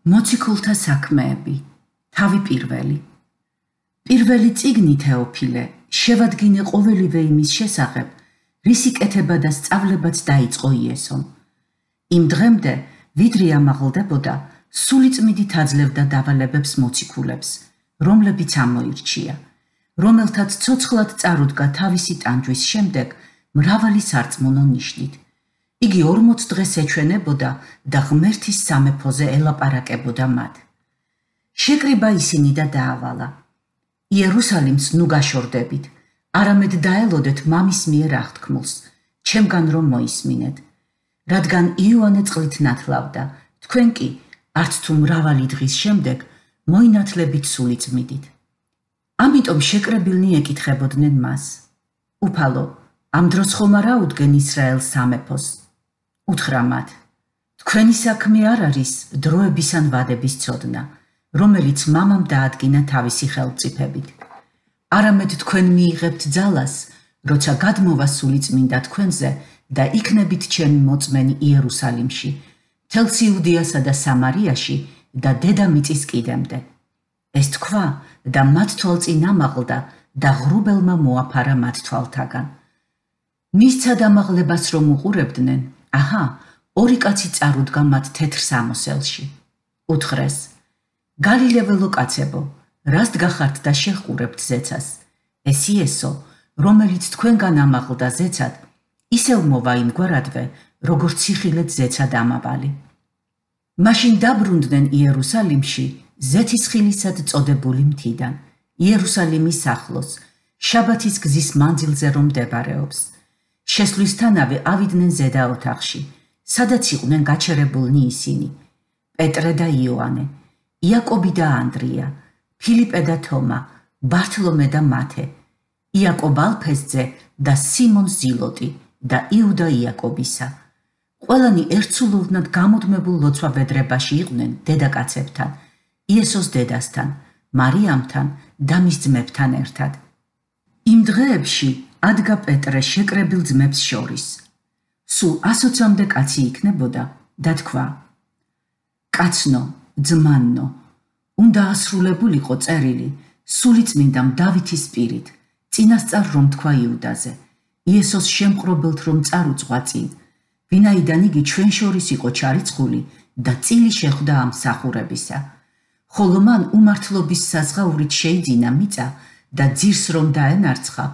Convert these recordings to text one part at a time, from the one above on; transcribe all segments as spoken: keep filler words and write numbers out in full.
მოციქულთა საქმეები, თავი პირველი. პირველი წიგნი თეოფილე, შევადგინე ყოველივე იმის შესახებ, რისი კეთება და სწავლებაც დაიწყო იესომ. იმ დღემდე, ვიდრე ამაღლდებოდა, სულიწმიდით აძლევდა დავალებებს მოციქულებს, რომლებიც ამოირჩია, რომელთაც ცოცხლად წარუდგა თავისი ტანჯვის შემდეგ მრავალი სარწმუნო ნიშნით. იგი ორმოც დღეს ეჩვენებოდა და ღმერთის სამეფოზე ელაპარაკებოდა მათ. შეკრიბა ისინი და დაავალა. იერუსალიმს ნუ გაშორდებით, არამედ დაელოდეთ მამის მიერ აღთქმულს, ჩემგან რომ მოისმინეთ. რადგან იოანე წყლით ნათლავდა, თქვენ კი, არც თუ მრავალი დღის შემდეგ, მოინათლებით სულიწმიდით. ამიტომ შეკრებილნი ეკითხებოდნენ მას. უფალო, ამ დროს ხომ არ აუდგენ ისრაელს სამეფოს? უთხრა მათ, თქვენი საქმე არ არის დროების ან ვადების ცოდნა, რომელიც მამამ დაადგინა თავისი ხელმწიფებით. არამედ თქვენ მიიღებთ ძალას, როცა გადმოვა სულიწმინდა თქვენზე და იქნებით ჩემი მოწმენი იერუსალიმში, მთელს იუდეასა და სამარიაში და დედამიწის კიდემდე. ეს თქვა და მათ თვალწინ ამაღლდა და ღრუბელმა მოაფარა მათ თვალთაგან. მისცა დამაღლებას რომ უყურებდნენ, აჰა, ორი კაცი წარუდგა მათ თეთრ სამოსელში. უთხრეს, გალილეველო კაცებო, რას დგახართ და შეჰყურებთ ზეცას? ეს იესო, რომელიც თქვენგან ამაღლდა ზეცად, ისევ მოვა იმგვარადვე, როგორც სიხილეთ ზეცად ამავალი. მაშინ დაბრუნდნენ იერუსალიმში, ზეთისხილისად წოდებული მთიდან, იერუსალიმის ახლოს, შაბათის გზის მანძილზე რომ მდებარეობს. შესვლისთანავე ავიდნენ ზედა ოთახში, სადაც იყვნენ გაჩერებულნი ისინი, პეტრე და იოანე, იაკობი და ანდრია, ფილიპე და თომა, ბართლომე და მათე, იაკობ ალფესძე და სიმონ ზილოტი და იუდა იაკობისა. ყველანი ერთსულოვნად გამუდმებულ ლოცვა-ბედრებაში იყვნენ დედაკაცებთან, იესოს დედასთან, მარიამთან და მის ძმებთან ერთად. იმ დღეებში ადგა პეტრე შეკრებილ ძმებს შორის. სულ ასოცამდე კაცი იქნებოდა და თქვა, კაცნო, ძმანნო, უნდა ასრულებულიყო წერილი სულიწმინდამ დავითის პირით, წინასწარ რომ თქვა იუდაზე, იესოს შემყრობელთ რომ წარუძღვა წინ, ვინაიდან იგი ჩვენ შორის იყო ჩარიცხული და წილი შეხვდა ამ მსახურებისა. ხოლო მან უმართლობის საზღაურით შეიძინა მიწა და ძირს რომ დაენარცხა,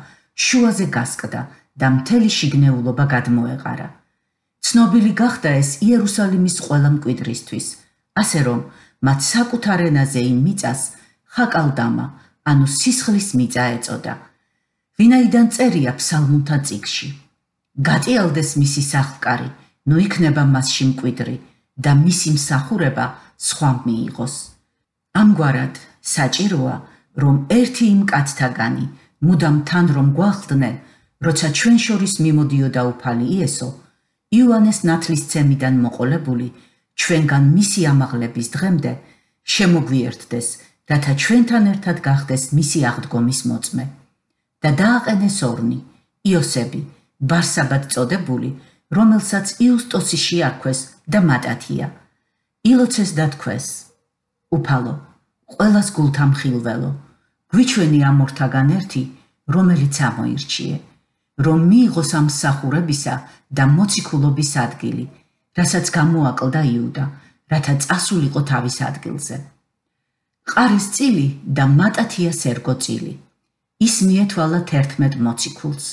შუაზე გასკდა და მთელი შიგნეულობა გადმოეყარა. ცნობილი გახდა ეს იერუსალიმის ყველა მკვიდრისთვის, ასე რომ მათ საკუთარ ენაზე იმ მიწას ხაკალდამა, ანუ სისხლის მიწა ეწოდა. ვინაიდან წერია ფსალმუნთა წიგნში. გატიალდეს მისი სახლკარი, ნუ იქნება მასში მკვიდრი და მისი მსახურება სხვა მიიღოს. ამგვარად საჭიროა, რომ ერთი იმ კაცთაგანი, მუდამ თან რომ გვახლდნენ, როცა ჩვენ შორის მიმოდიოდა უფალი იესო, იოანეს ნათლისცემიდან მოყოლებული, ჩვენგან მისი ამაღლების დღემდე შემოგვიერთდეს, რათა ჩვენთან ერთად გახდეს მისი აღდგომის მოწმე. და დააყენეს ორნი, იოსები, ბარსაბად წოდებული, რომელსაც იუსტოსი შეარქვეს და მატათია. ილოცეს და თქვეს, უფალო, ყველას გულთან ხილველო, გვიჩვენი ამ ორთაგან ერთი, რომელიც ამოირჩიე, რომ მიიღოს ამ მსახურებისა და მოციქულობის ადგილი, რასაც გამოაკლდა იუდა, რათა წასულიყო თავის ადგილზე. ყარის წილი და მატათიას ერგო წილი. ის მიეთვალა თერთმეტ მოციქულს.